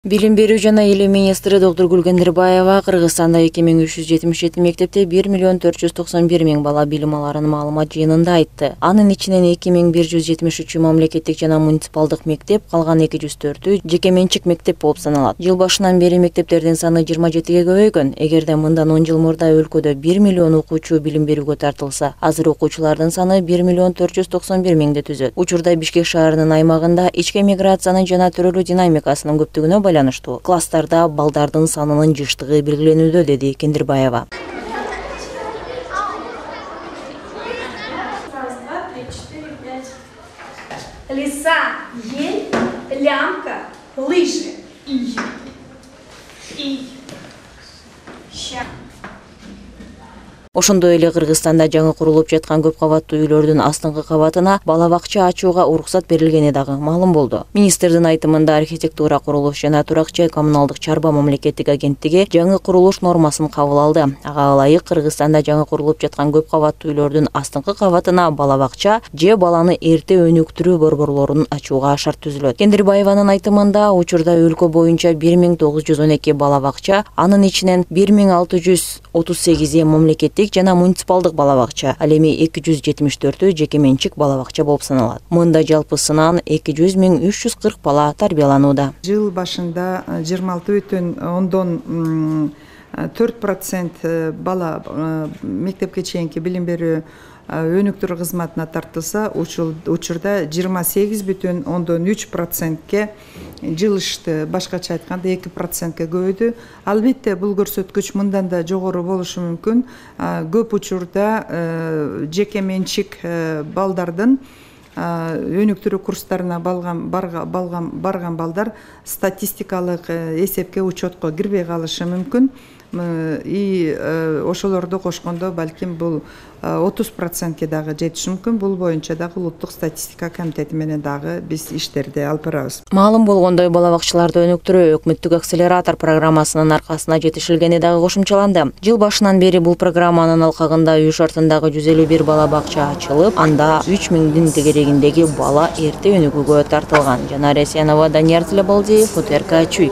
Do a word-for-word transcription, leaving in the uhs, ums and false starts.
Билим берүү жана илим министри доктор Гүлгендирбаева Кыргызстанда эки миң үч жүз жетимиш жети мектепте бир миллион төрт жүз токсон бир миң бала билим аларын маалымат жыйынында айтты. Анын ичинен эки миң бир жүз жетимиш үчү мамлекеттик жана муниципалдык мектеп, калган эки жүз төртү жеке менчик мектеп болуп саналат. Жыл башынан бери мектептердин саны жыйырма жетиге көбөйгөн. Эгерде мындан он жыл мурда өлкөдө бир миллион окуучу билим берүүгө тартылса, азыр окуучулардын саны бир миллион төрт жүз токсон бир миңди түзөт. Учурда Бишкек шаарынын аймагында ички миграциянын жана төрөлүү динамикасынын көптүгүнө байланыштуу класстарда балдардын санынын жыштыгы белгиленүүдө, деди Кендирбаева. Лиса, ель, лямка, лыжи. И. И. Ща. Ошондой эле Кыргызстанда жаңы курулуп жаткан көп кабаттуу үйлөрдүн астыңкы кабатына бала бакча ачууга уруксат берилгени дагы маалым болду. Министрдин айтымында архитектура, курулуш жана турак-жай коммуналдык чарба мамлекеттик агенттиги жаңы курулуш нормасын кабыл алды. Ага ылайык Кыргызстанда жаңы курулуп жаткан көп кабаттуу үйлөрдүн астыңкы кабатына бала бакча же баланы эрте өнүктүрүү борборлорун ачууга шарт түзүлөт. Кендирбаеванын айтымында учурда өлкө боюнча бир миң тогуз жүз он эки бала бакча, анын ичинен бир миң алты жүз отуз сегизи мамлекеттик жана муниципалдык бала бакча, ал эми эки жүз жетимиш төртү жеке менчик бала бакча болуп саналат. Мында жалпысынан эки жүз миң үч жүз кырк бала тарбияланууда. Жыл башында жыйырма алты бүтүн ондон төрт процент бала мектепке чейинки билим берүү өнүктүрүү кызматына тартылса, учурда жыйырма сегиз бүтүн ондон үч процентке жылышты. Башкача айтканда эки процентке көбөйдү. Албетте бул көрсөткүч мындан да жогору болушу мүмкүн. Көп учурда жеке менчик балдардын өнүктүрүү курстарына барган балдар статистикалык эсепке, учетко кирбей калышы мүмкүн. И ошолорду кошкондо балким бул отуз процентке дагы жетиши мүмкүн. Бул боюнча дагы улуттук статистика комитети менен дагы биз иштерди алып барабыз. Маалым болгондой, бала бакчаларды өнүктүрүү өкмөттүк акселератор программасынын аркасына жетишилгени дагы кошумчаланды. Жыл башынан бери бул программанын алкагында үй шартындагы жүз элүү бир бала бакча ачылып, анда үч миңдин тегерегиндеги бала эрте өнүгүүгө тартылган. Жанар Эсенова, Данияр Тилебалдиев, Фото эр ка Чүй.